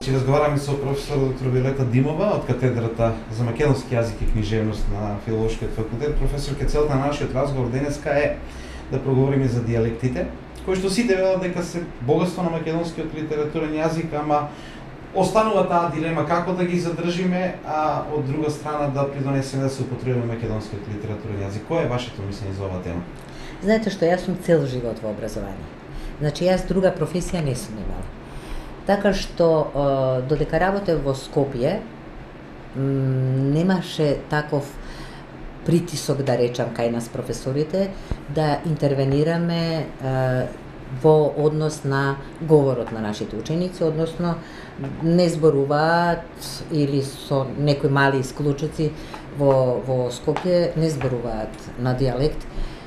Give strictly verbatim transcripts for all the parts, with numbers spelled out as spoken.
Значи, разговараме со професор доктор Виолета Димова од катедрата за македонски јазик и книжевност на Филолошкиот факултет. Професор, целта на нашиот разговор денеска е да проговориме за дијалектите, кои што сите велат дека се богатство на македонскиот литературен јазик, ама останува таа дилема како да ги задржиме, а од друга страна да придонесеме да се употребува македонскиот литературен јазик. Кој е вашето мислење за оваа тема? Знаете што, јас сум цел живот во образование. Значи, јас друга професија не сум имала. Така што, додека работев во Скопје, немаше таков притисок, да речам, кај нас професорите, да интервенираме во однос на говорот на нашите ученици, односно не зборуваат или со некои мали исклучоци во, во Скопје не зборуваат на дијалект,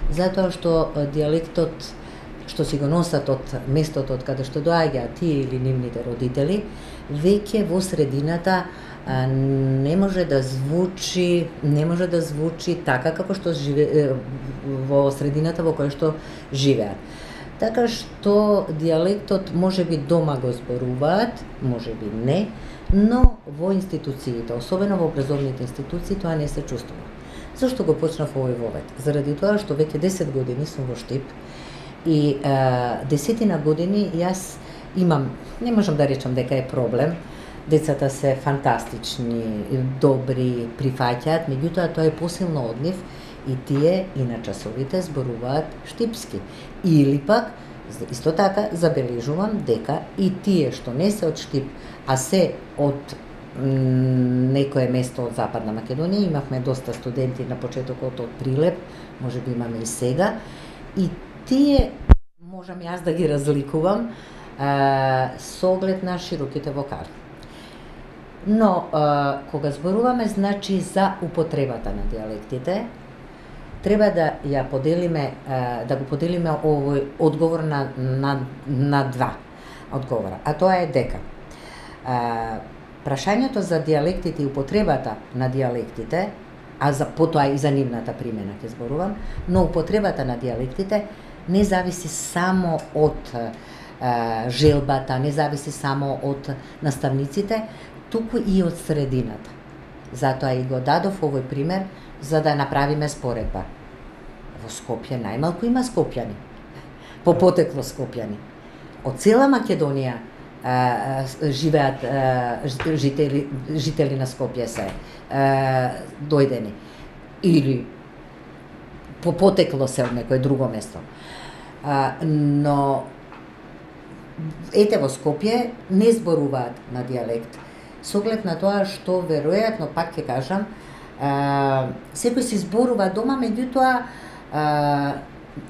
затоа што дијалектот што си го носат од местото од каде што доаѓаат тие или нивните родители, веќе во средината а, не може да звучи, не може да звучи така како што живе во средината во која што живеат. Така што дијалектот можеби дома го зборуваат, можеби не, но во институциите, особено во образовните институции, тоа не се чувствува. Зошто го почнав овој вовет? Заради тоа што веќе десет години сум во Штип и а, десетина години јас имам, не можам да речам дека е проблем, децата се фантастични, добри, прифаќаат, меѓутоа тоа е посилно од нив и тие и на часовите зборуваат штипски. Или пак, исто така, забележувам дека и тие што не се од Штип, а се од некое место од Западна Македонија, имавме доста студенти на почетокот од Прилеп, можеби имаме и сега, и тие можам јас да ги разликувам а, со оглед на широките вокали. Но, а, кога зборуваме, значи, за употребата на дијалектите, треба да ја поделиме, а, да го поделиме овој одговор на, на, на два одговора. А тоа е дека а, прашањето за дијалектите и употребата на дијалектите, а за потоа и за нивната примена ќе зборувам, но употребата на дијалектите не зависи само од а, желбата, не зависи само од наставниците, туку и од средината. Затоа и го дадов овој пример за да направиме споредба. Во Скопје најмалку има скопјани, по потекло скопјани. Од цела Македонија а, живеат а, жители, жители на Скопје се а, дојдени. Или по потекло се од некој друго место. А, но ете во Скопје не зборуваат на дијалект. Со оглед на тоа што веројатно, пак ќе кажам, а, секој си зборува дома, меѓутоа а,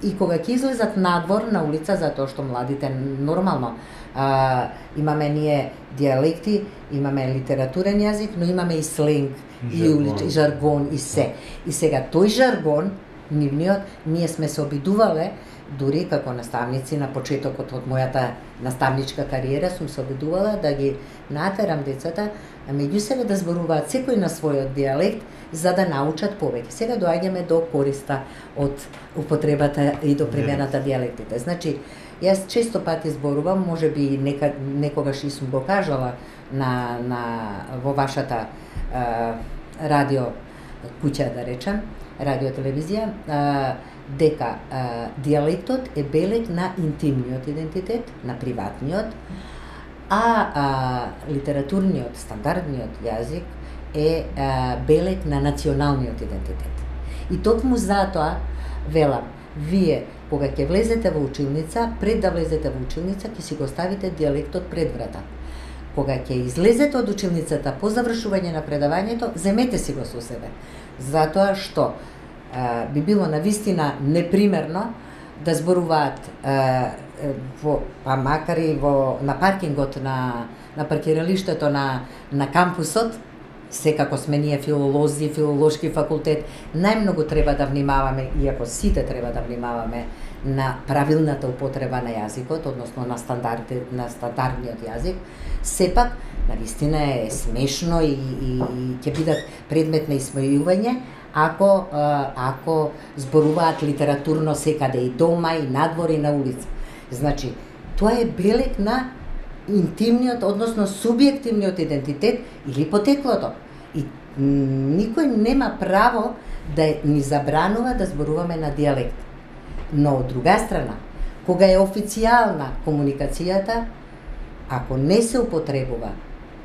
и кога ќе излезат надвор на улица, затоа што младите нормално а, имаме ние дијалекти, имаме литературен јазик, но имаме и сленг, и, улич, и жаргон, и се. И сега тој жаргон, нивниот, ние сме се обидувале, дури како наставници на почетокот од мојата наставничка кариера, сум се обидувала да ги натерам децата меѓу себе да зборуваат секој на својот дијалект за да научат повеќе. Сега доаѓаме до користа од употребата и до примената дијалектите. Значи, јас често пати зборувам, можеби нека, некогаш и сум го кажала на, на, во вашата а, радио куќа, да речем, радио-телевизија, а, дека а, дијалектот е белег на интимниот идентитет, на приватниот, а, а литературниот, стандардниот јазик е а, белег на националниот идентитет. И токму затоа, велам, вие, кога ќе влезете во училница, пред да влезете во училница, ќе си го ставите дијалектот пред врата. Кога ќе излезете од училницата по завршување на предавањето, земете си го со себе. Затоа што а, би било навистина непримерно да зборуваат а, во, па макар и во, на паркингот на, на паркиралиштето на, на кампусот, секако сме ние филолози, филолошки факултет, најмногу треба да внимаваме, иако сите треба да внимаваме на правилната употреба на јазикот, односно на стандарди, на стандардниот јазик, сепак навистина е смешно и, и, и ќе бидат предмет на исмејување ако ако зборуваат литературно секаде и дома и надвор и на улица. Значи, тоа е белег на интимниот, односно субјективниот идентитет или потеклото. И никој нема право да ни забранува да зборуваме на дијалект. Но од друга страна, кога е официјална комуникацијата, ако не се употребува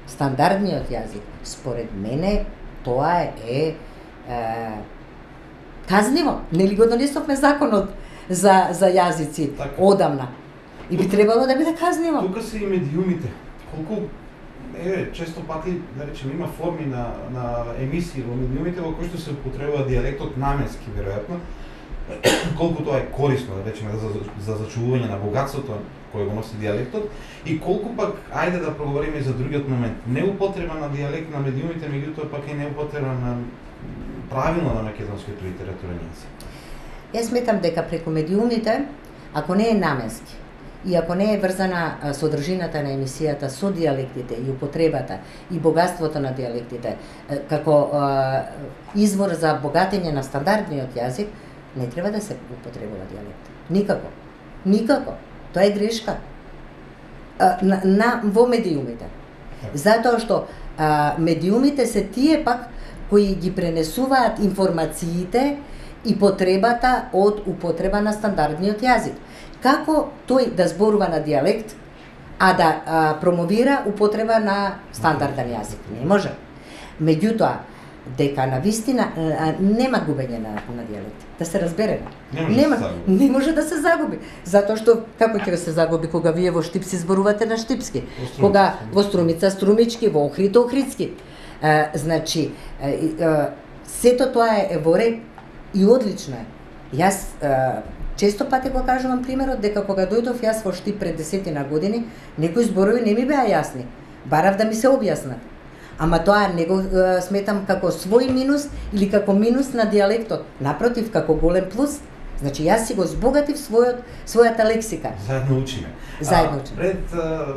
стандардниот јазик, според мене тоа е, е, е казниво. Нели го донесовме законот за за јазици така одамна. И би требало да биде казниво. Тука се и медиумите. Колку е често пати, да речеме, има форми на на емисии во медиумите во кои што се употребува дијалектот наменски веројатно. Колку тоа е корисно, да речеме, за за зачувување на богатството кој го носи дијалектот, и колку пак, ајде да проговориме за другиот момент, неупотреба на дијалект на медиумите, меѓутоа пак и неупотреба на правилно на македонскиот литературен јазик. Јас сметам дека преку медиумите, ако не е наменски и ако не е врзана содржината на емисијата со дијалектите и употребата и богатството на дијалектите како извор за богатење на стандардниот јазик, не треба да се употребува дијалект. Никако. Никако. Тоа е грешка. А, на, на во медиумите. Затоа што а, медиумите се тие пак кои ги пренесуваат информациите и потребата од употреба на стандардниот јазик. Како тој да зборува на дијалект, а да а, промовира употреба на стандарден јазик? Не може. Меѓутоа, дека на вистина а, нема губење на, на дијалект. Да се разбереме. Не, нема, да не може да се загуби. Затоа што како ќе се загуби кога вие во Штипси зборувате на штипски, кога во Струмица струмички, во Охрид охридски. А, значи, а, а, сето тоа е во ред и одлично е. Јас а, често пати го кажувам примерот дека кога дојдов јас во Штип пред десетина години, некои зборови не ми беа јасни. Барав да ми се објаснат. Ама тоа не го е, сметам како свој минус или како минус на дијалектот. Напротив, како голем плюс. Значи, јас си го збогатив својот, својата лексика. Заедно учиме. Заедно учиме. А, пред а,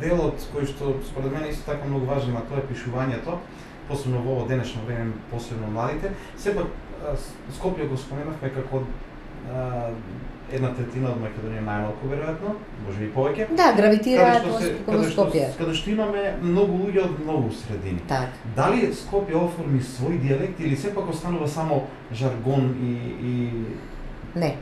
делот кој што според мене исто така многу важен, а тоа е пишувањето, посебно во ово денешно време, посебно младите, сепак Скопје го споменавме како а, една третина од Македонија најмалку веројатно, можеби повеќе. Да, гравитираат во Скопје. Каде што имаме многу луѓе од многу средини. Так. Дали Скопје оформи свој дијалект или сепак останува само жаргон и и Не.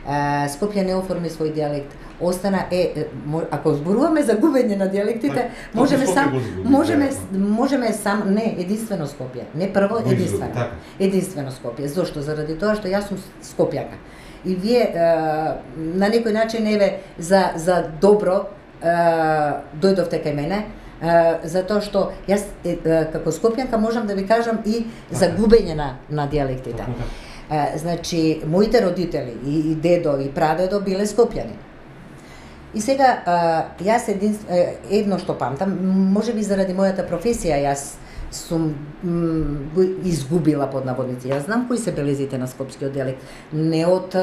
А, Скопје не оформи свој дијалект. Остана е, ако зборуваме за губење на дијалектите, так, можеме сам можеме можеме сам не единствено Скопје, не прво единствено. Така. Единствено Скопје. Зошто? Заради тоа што јас сум скопјанка. И вие е, на некој начин еве за за добро е, дојдовте кај мене, е, затоа што јас е, е, како скопјанка можам да ви кажам и за губење на на дијалектите. Е, значи моите родители и, и дедо и прадедо биле скопјани. И сега е, јас един, е, едно што памтам, можеби заради мојата професија јас сум го изгубила под наводници. Јас знам кои се белезите на скопскиот дијалект, не од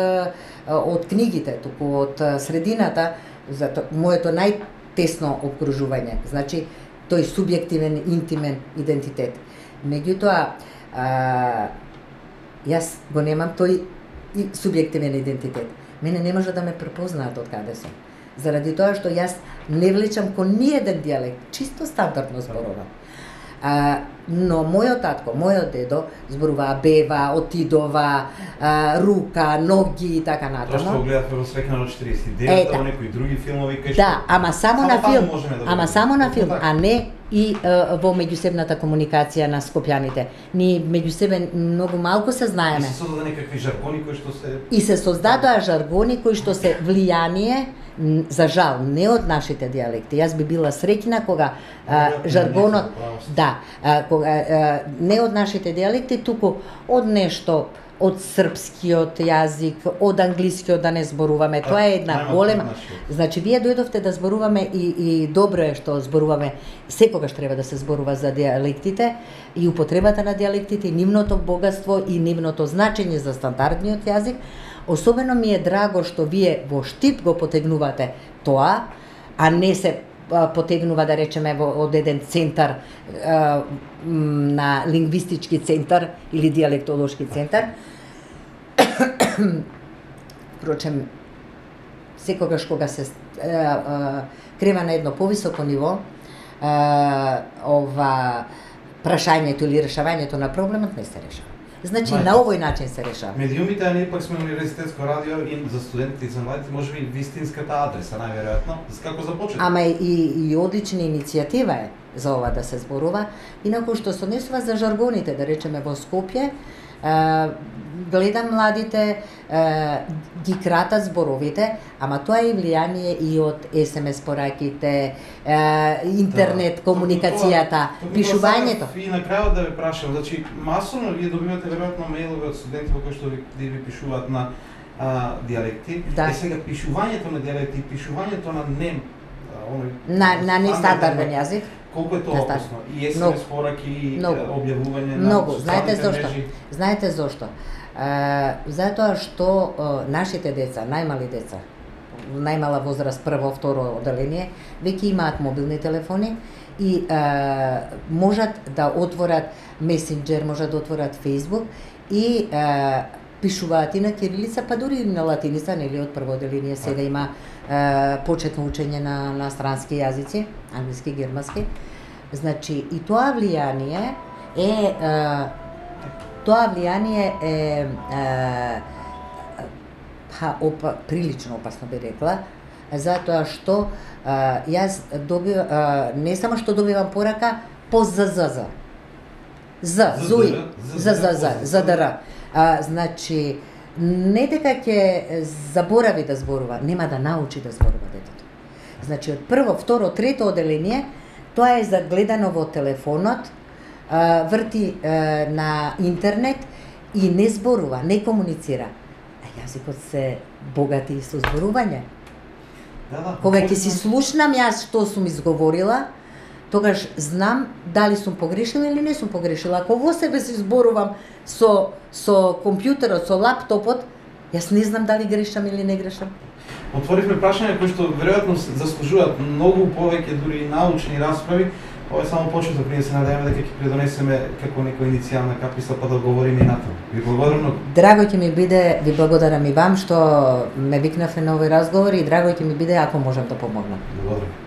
од книгите, туку од средината, зато моето најтесно обкружување. Значи тој субјективен, интимен идентитет. Меѓутоа, а, јас го немам тој субјективен идентитет. Мене не може да ме препознаат од каде сум. Заради тоа што јас не влечам кон ниеден дијалект, чисто стандардно зборувам. А, но мојот татко, мојот дедо зборуваа бева, отидова, а, рука, ноги и така натаму. Тоа што го гледавме во Свекна од четириесет и девет, во некои други филмови кај што. Да, ама само, само на филм, да ама само на филм, а не и а, во меѓусебната комуникација на скопјаните. Ние меѓусебен многу малку се знаеме. И се создадоа некакви жаргони кои што се И се создадоа жаргони кои што се влијание, за жал, не од нашите дијалекти. Јас би била среќна кога а, жаргонот, да, а, кога а, не од нашите дијалекти, туку од нешто од српскиот јазик, од англискиот да не зборуваме. Тоа е една голема. Значи вие дојдовте да зборуваме и и добро е што зборуваме. Секогаш треба да се зборува за дијалектите и употребата на дијалектите и нивното богатство и нивното значење за стандардниот јазик. Особено ми е драго што вие во Штип го потегнувате тоа, а не се потегнува, да речеме, во, од еден центар а, на лингвистички центар или дијалектолошки центар. Впрочем, секогаш кога се е, е, крема на едно повисоко ниво, е, ова прашањето или решавањето на проблемот не се решава. Значи Знаете, на овој начин се решава. Медиумите, а ние пак сме универзитетско радио и за студентите и за младите може би вистинската адреса најверојатно. Како започнете? Ама и, и одлична иницијатива е за ова да се зборува. Инаку што се однесува за жаргоните, да речеме во Скопје, е, гледам младите, е, ги кратат зборовите, ама тоа е влијание и од ес ем ес пораките, е, интернет, да, комуникацијата, тоа, пишувањето. И на крајот да ве прашам, значи масовно вие добивате веројатно мејлови од студенти во кои што ви, ви пишуваат на а, диалекти. Да. Е сега пишувањето на диалекти, пишувањето на нем, оној На, на нестандарден јазик. Колку е тоа опасно? И ес ем ес пораки, и објавување на Многу. Знаете социјалните зошто? мрежи. Знаете зошто? Uh, затоа што uh, нашите деца, најмали деца, најмала возраст, прво, второ оделение, веќе имаат мобилни телефони и uh, можат да отворат месенџер, можат да отворат Facebook и uh, пишуваат и на кирилица, па дури и на латиница, нели од прво оделение сега има uh, почетно учење на, на странски јазици, англиски, германски. Значи, и тоа влијание е uh, Тоа влијание е, е па, опа, прилично опасно би рекла, затоа што е, јас добивам, не само што добивам порака, по ЗЗЗ. З, ЗУИ, ЗЗЗ, ЗДР. Значи, не дека ќе заборави да зборува, нема да научи да зборува детето. Значи, од прво, второ, трето оделение, тоа е загледано во телефонот, врти е, на интернет и не зборува, не комуницира. А јазикот се богати и со зборување. Да, да. Кога ќе си слушнам јас што сум изговорила, тогаш знам дали сум погрешила или не сум погрешила. Ако во себе си зборувам со со компјутерот, со лаптопот, јас не знам дали грешам или не грешам. Отворивме прашања кои што веројатно заслужуваат многу повеќе дури и научни расправи. Ова е само почеток, ние се надеваме дека ќе предонесеме како некоја иницијална каписла па да говориме и натаму. Ви благодарам многу. Драго ќе ми биде, ви благодарам и вам што ме викнавте на овој разговор и драго ќе ми биде ако можам да помогнам. Благодарам.